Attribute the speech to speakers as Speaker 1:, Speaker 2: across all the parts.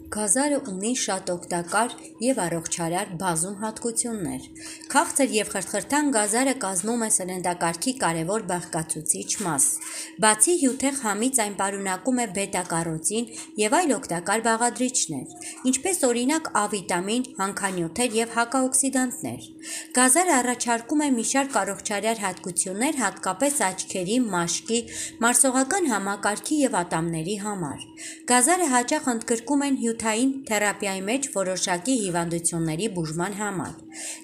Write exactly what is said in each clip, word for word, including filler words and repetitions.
Speaker 1: Գազարը ունի շատ օգտակար և առողջարար բազում հատկություններ։ Քաղցր և խրթխրթան գազարը կազմում է սննդակարգի կարևոր բաղկացուցիչ մաս։ Բացի հյութեղ համից այն պարունակում է բետա-կարոտին և այլ օգտակար բաղադրիչներ, ինչպես օրինակ Ա վիտամին, հանքանյութեր և հակաօքսիդանտներ։ Գազարը առաջարկում է մի շարք առողջարար հատկություններ հատկապես աչքերի, մաշկի, մարսողական համակարգի և ատամների համար։ Գազարը հաճախ ընդգրկում են հյութային թերապիայի մեջ որոշակի հիվանդությունների բուժման համար։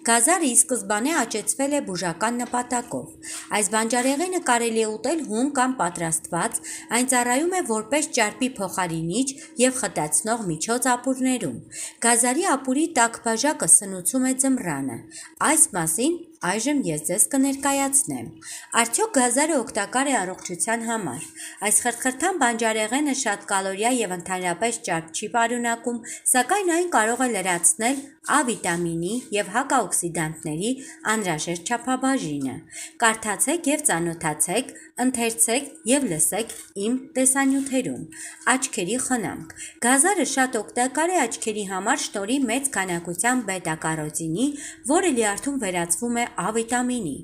Speaker 1: Գազարը ի սկզբանե աճեցվել է բուժական նպատակով։ Այս բանջարեղենը կարելի է ուտել հում կամ պատրաստված, այն ծառայում է որպես ճարպի փոխարինիչ և խտացնող միջոց ապուրներում։ Գազարի ապուրի տաք բաժակը սնուցում է ձմռանը։ Այս մասին այժմ ես ձեզ կներկայացնեմ։ Արդյոք գազարը օգտակար է առողջության համար։ Այս խրթխրթան բանջարեղենը շատ կալորիա և ընդհանրապես ճարպ չի պարունակում, սակայն այն կարող է լրացնել Ա վիտամինի և հակաօքսիդանտների անհրաժեշտ չափաբաժինը։ Կարդացեք և ծանոթացեք, ընթերցեք և լսեք իմ տեսանյութերում։ Աչքերի խնամք։ Գազարը շատ օգտակար է աչքերի համար շնորհիվ մեծ քանակության բետա-կարոտինի, որը լյարդում վերածվում է Ա վիտամինի։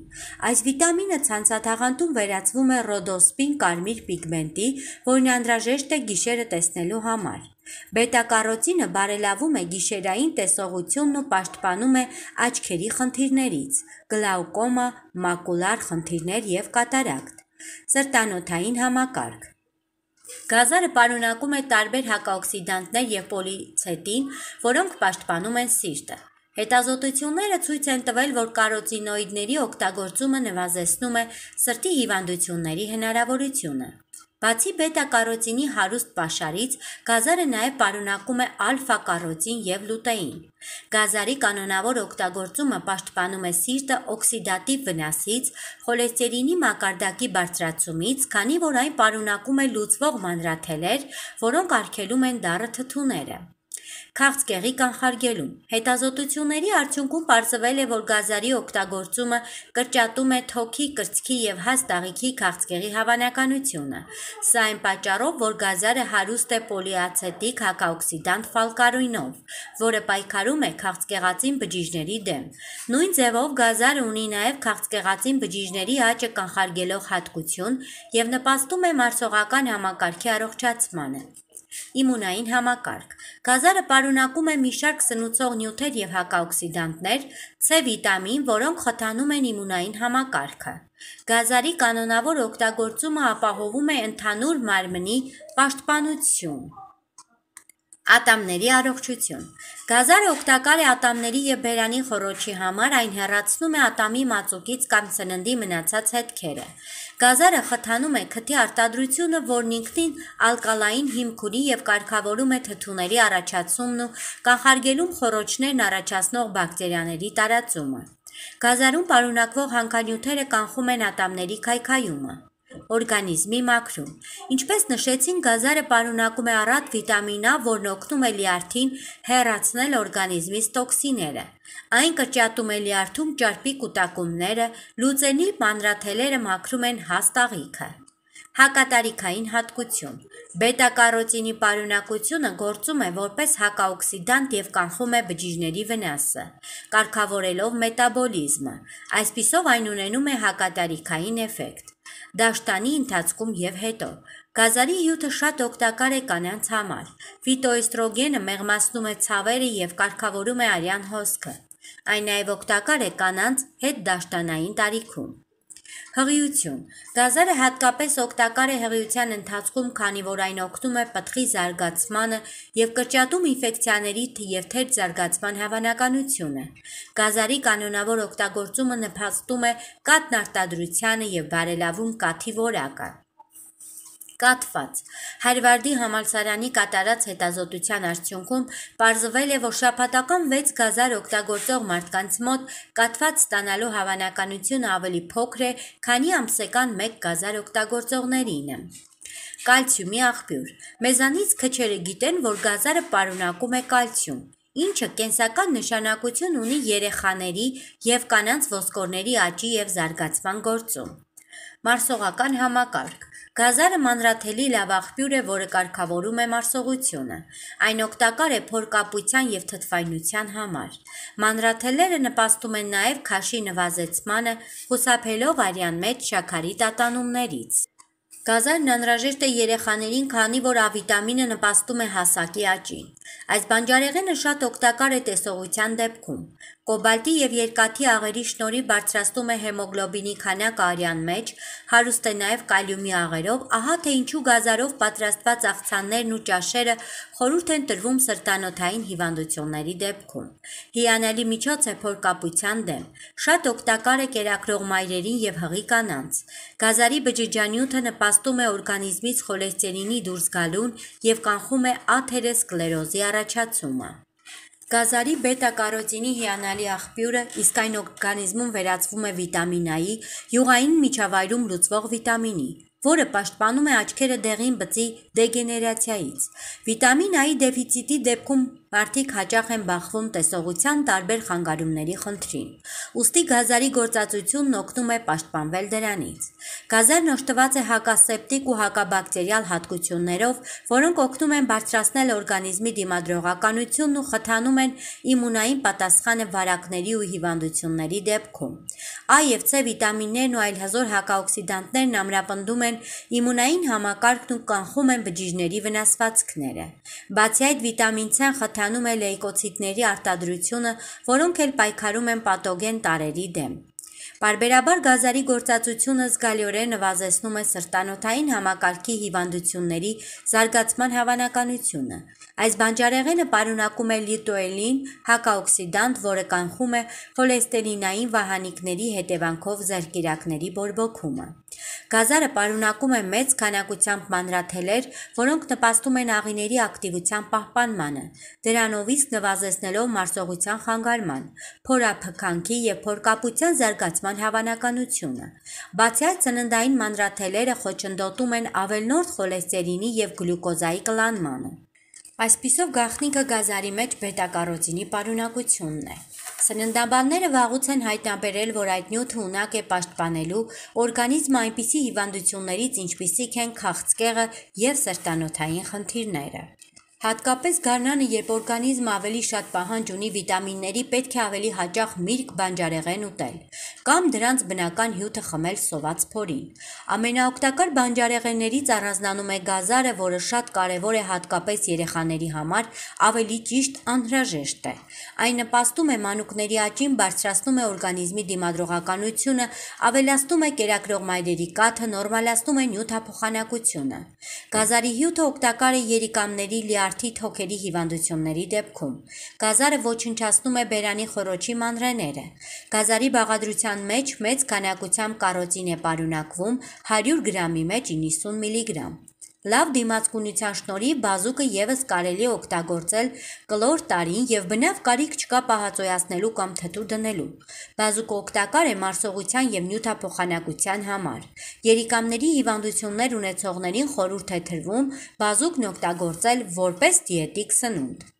Speaker 1: Այս վիտամինը ցանցաթաղանթում վերածվում է ռոդոսպին կարմիր պիգմենտի, որն անհրաժեշտ է գիշերը տեսնելու համար։ Բետա-կարոտինը բարելավում է գիշերային տեսողությունն ու պաշտպանում է աչքերի խնդիրներից՝ գլաուկոմա, մակուլար խնդիրներ և կատարակտ։ Սրտանոթային համակարգ։ Գազարը պարունակում է տարբեր հակաօքսիդանտներ և պոլիցետին, որոնք պաշտպանում են սիրտը։ Հետազոտությունները ցույց են տվել, որ կարոտինոիդների օգտագործումը նվազեցնում է սրտի հիվանդությունների հնարավորությունը։ Բացի բետա-կարոտինի հարուստ պաշարից, գազարը նաև պարունակում է ալֆա-կարոտին և լուտեին։ Գազարի կանոնավոր օգտագործումը պաշտպանում է սիրտը օքսիդատիվ վնասից, խոլեստերինի մակարդակի բարձրացումից, քանի որ այն պարունակում է լուծվող մանրաթելեր, որոնք արգելում են դառը թթուները։ Քաղցկեղի կանխարգելում։ Հետազոտությունների արդյունքում պարզվել է, որ գազարի օգտագործումը կրճատում է թոքի, կրծքի և հաստ աղիքի քաղցկեղի հավանականությունը։ Սա այն պատճառով, որ գազարը հարուստ է պոլիացետիկ հակաօքսիդանտ ֆալկարինով, որը պայքարում է քաղցկեղածին բջիջների դեմ։ Նույն ձևով գազարը ունի նաև քաղցկեղածին բջիջների աճը կանխարգելող հատկություն և նպաստում է մարսողական համակարգի առողջացմանը։ Իմունային համակարգ։ Գազարը պարունակում է մի շարք սնուցող նյութեր և հակաօքսիդանտներ, Ց վիտամին, որոնք խթանում են իմունային համակարգը։ Գազարի կանոնավոր օգտագործումը ապահովում է ընդհանուր մարմնի պաշտպանություն։ Ատամների առողջություն։ Գազարը օգտակար է ատամների և բերանի խոռոչի համար, այն հեռացնում է ատամի մածուկից կամ սննդի մնացած հետքերը։ Գազարը խթանում է քթի արտադրությունը, որն ինքնին ալկալային հիմք ունի և կարգավորում է թթուների առաջացումն ու կանխարգելում խոռոչներն առաջացնող բակտերիաների տարածումը։ Գազարում պարունակվող հանքանյութերը կանխում են ատամների քայքայումը։ Օրգանիզմի մաքրում։ Ինչպես նշեցինք, գազարը պարունակում է առատ վիտամին Ա, որն օգնում է լյարդին հեռացնել օրգանիզմից տոքսինները։ Այն կրճատում է լյարդում ճարպի կուտակումները, լուծելի մանրաթելերը մաքրում են հաստ աղիքը։ Հակատարիքային հատկություն։ Բետա-կարոտինի պարունակությունը գործում է որպես հակաօքսիդանտ և կանխում է բջիջների վնասը, կարգավորելով մետաբոլիզմը։ Այսպիսով այն ունենում է հակատարիքային էֆեկտ։ Դաշտանի ընթացքում և հետո։ Գազարի հյութը շատ օգտակար է կանանց համար։ Ֆիտոէստրոգենը մեղմացնում է ցավերը և կարգավորում է արյան հոսքը։ Այն նաև օգտակար է կանանց հետդաշտանային տարիքում։ Հղիություն։ Գազարը հատկապես օգտակար է հղիության ընթացքում, քանի որ այն օգնում է պտղի զարգացմանը և կրճատում ինֆեկցիաների և թերթ զարգացման հավանականությունը։ Գազարի կանոնավոր օգտագործումը նպաստում է կաթնարտադրությանը և բարելավում կաթի որակը։ Կաթված։ Հարվարդի համալսարանի կատարած հետազոտության արդյունքում պարզվել է, որ շաբաթական վեց գազար օգտագործող մարդկանց մոտ կաթված ստանալու հավանականությունը ավելի փոքր է, քանի ամսական մեկ գազար օգտագործողներինը։ Կալցիումի աղբյուր։ Մեզանից քչերը գիտեն, որ գազարը պարունակում է կալցիում, ինչը կենսական նշանակություն ունի երեխաների և կանանց ոսկորների աճի և զարգացման գործում։ Մարսողական համակարգ։ Գազարը մանրաթելի լավ աղբյուր է, որը կարգավորում է մարսողությունը։ Այն օգտակար է փորկապության և թթվայնության համար։ Մանրաթելերը նպաստում են նաև քաշի նվազեցմանը, խուսափելով արյան մեջ շաքարի տատանումներից։ Գազարն անհրաժեշտ է երեխաներին, քանի որ A-վիտամինը նպաստում է հասակի աճին։ Այս բանջարեղենը շատ օգտակար է տեսողության դեպքում։ Կոբալտի և երկաթի աղերի շնորհիվ բարձրացնում է հեմոգլոբինի քանակը արյան մեջ, հարուստ է նաև կալիումի աղերով, ահա թե ինչու գազարով պատրաստված աղցաններն ու ճաշերը խորհուրդ են տրվում սրտանոթային հիվանդությունների դեպքում։ Հիանալի միջոց է փորկապության դեմ։ Շատ օգտակար է կերակրող մայրերին և հղի կանանց։ Գազարի բջիջանյութը նպաստում է օրգանիզմից խոլեստերինի դուրս գալուն և կանխում է աթերոսկլերոզի առաջացումը։ Գազարի բետա-կարոտինի հիանալի աղբյուրը, իսկ այն օրգանիզմում վերածվում է վիտամին A-ի, յուղային միջավայրում լուծվող վիտամինի, որը պաշտպանում է աչքերը դեղին բծի դեգեներացիայից։ Վիտամին A-ի դեֆիցիտի դեպքում մարդիկ հաճախ են բախվում տեսողության տարբեր խանգարումների խնդրին։ Ուստի գազարի գործածությունն օգնում է պաշտպանվել դրանից։ Գազարն օժտված է հակասեպտիկ ու հակաբակտերիալ հատկություններով, որոնք օգնում են բարձրացնել օրգանիզմի դիմադրողականությունն ու խթանում են իմունային պատասխանը վարակների ու հիվանդությունների դեպքում։ A և C վիտամիններն ու այլ հզոր հակաօքսիդանտներն ամրապնդում են իմունային համակարգն ու կանխում են բջիջների վնասվածքները։ Բացի այդ, վիտամին C-ն խթանում է լեյկոցիտների արտադրությունը, որոնք էլ պայքարում են պաթոգեն տարրերի դեմ։ Պարբերաբար գազարի գործածությունը զգալիորեն նվազեցնում է սրտանոթային համակարգի հիվանդությունների զարգացման հավանականությունը։ Այս բանջարեղենը պարունակում է լյուտեոլին, հակաօքսիդանտ, որը կանխում է խոլեստերինային վահանիկների հետևանքով ձեռքերակների բորբոքումը։ Գազարը պարունակում է մեծ քանակությամբ մանրաթելեր, որոնք նպաստում են աղիների ակտիվության պահպանմանը, դրանով իսկ նվազեցնելով մարսողության խանգարման, փորափքանքի և փորկապության զարգացման հավանականությունը։ Բացի այդ, ծննդային մանրաթելերը խոչընդոտում են ավելնորդ խոլեստերինի և գլյուկոզայի կլանմանը։ Այսպիսով գաղտնիքը գազարի մեջ բետա-կարոտինի պարունակությունն է։ Սննդաբանները վաղուց են հայտնաբերել, որ այդ նյութը ունակ է պաշտպանելու օրգանիզմը այնպիսի հիվանդություններից, ինչպիսիք են քաղցկեղը և սրտանոթային խնդիրները։ Հատկապես գարնանը, երբ օրգանիզմը ավելի շատ պահանջ ունի վիտամինների, պետք է ավելի հաճախ միրգ բանջարեղեն ուտել, կամ դրանց բնական հյութը խմել սոված փորին։ Ամենաօգտակար բանջարեղեններից առանձնանում է գազարը, որը շատ կարևոր է հատկապես երեխաների համար, ավելի ճիշտ անհրաժեշտ է։ Այն նպաստում է մանուկների աճին, բարձրացնում է օրգանիզմի դիմադրողականությունը, ավելացնում է կերակրող մայրերի կաթը, նորմալացնում է նյութափոխանակությունը։ Գազարի հյութը օգտակար է երիկամների, լյարդի, թոքերի հիվանդությունների դեպքում։ Գազարը ոչնչացնում է բերանի խոռոչի մանրեները։ Գազարի բաղադրության մեջ մեծ քանակությամբ կարոտին է պարունակվում, հարյուր գրամի մեջ իննսուն միլիգրամ։ Լավ դիմացկունության շնորհիվ բազուկը ևս կարելի է օգտագործել կլոր տարին և բնավ կարիք չկա պահածոյացնելու կամ թթու դնելու։ Բազուկը օգտակար է մարսողության և նյութափոխանակության համար։ Երիկամների հիվանդություններ ունեցողներին խորհուրդ է տրվում բազուկն օգտագործել որպես դիետիկ սնունդ։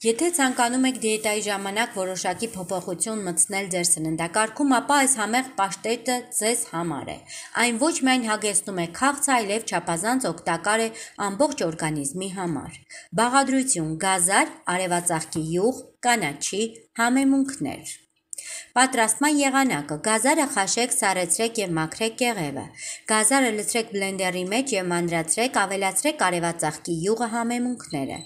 Speaker 1: Եթե ցանկանում եք դիետայի ժամանակ որոշակի փոփոխություն մտցնել ձեր սննդակարգում, ապա այս համեղ պաշտետը ձեզ համար է։ Այն ոչ միայն հագեցնում է քաղցը, այլև չափազանց օգտակար է ամբողջ օրգանիզմի համար։ Բաղադրություն՝ գազար, արևածաղկի յուղ, կանաչի, համեմունքներ։ Պատրաստման եղանակը՝ գազարը խաշեք, սառեցրեք և մաքրեք կեղևը։ Գազարը լցրեք բլենդերի մեջ և մանրացրեք, ավելացրեք արևածաղկի յուղը, համեմունքները։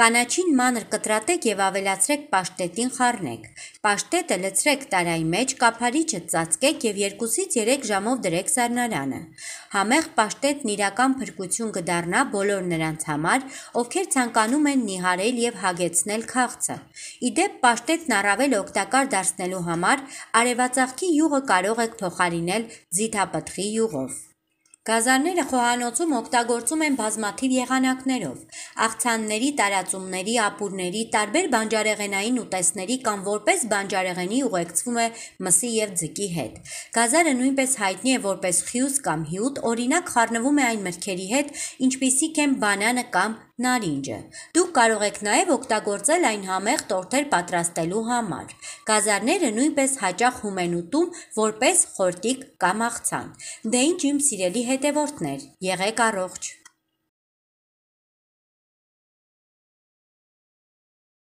Speaker 1: Կանաչին մանր կտրատեք և ավելացրեք պաշտետին, խառնեք։ Պաշտետը լցրեք տարայի մեջ, կափարիչը ծածկեք և երկուսից երեք ժամով դրեք սառնարանը։ Համեղ պաշտետն իրական փրկություն կդառնա բոլոր նրանց համար, ովքեր ցանկանում են նիհարել և հագեցնել քաղցը։ Ի դեպ, պաշտետն առավել օգտակար դարձնելու համար արևածաղկի յուղը կարող եք փոխարինել ձիթապտղի յուղով։ Գազարները խոհանոցում օգտագործում են բազմաթիվ եղանակներով՝ աղցանների, տարածումների, ապուրների, տարբեր բանջարեղենային ուտեստների կամ որպես բանջարեղենի ուղեկցվում է մսի և ձկի հետ։ Գազարը նույնպես հայտնի է որպես խյուս կամ հյութ, օրինակ խառնվում է այն մրգերի հետ, ինչպիսիք են բանանը կամ նարինջը։ Դուք կարող եք նաև օգտագործել այն համեղ տորթեր պատրաստելու համար։ Գազարները նույնպես հաճախ հում են ուտում որպես խորտիկ կամ աղցան։ Դե ինչ իմ սիրելի հետևորդներ, եղեք առողջ։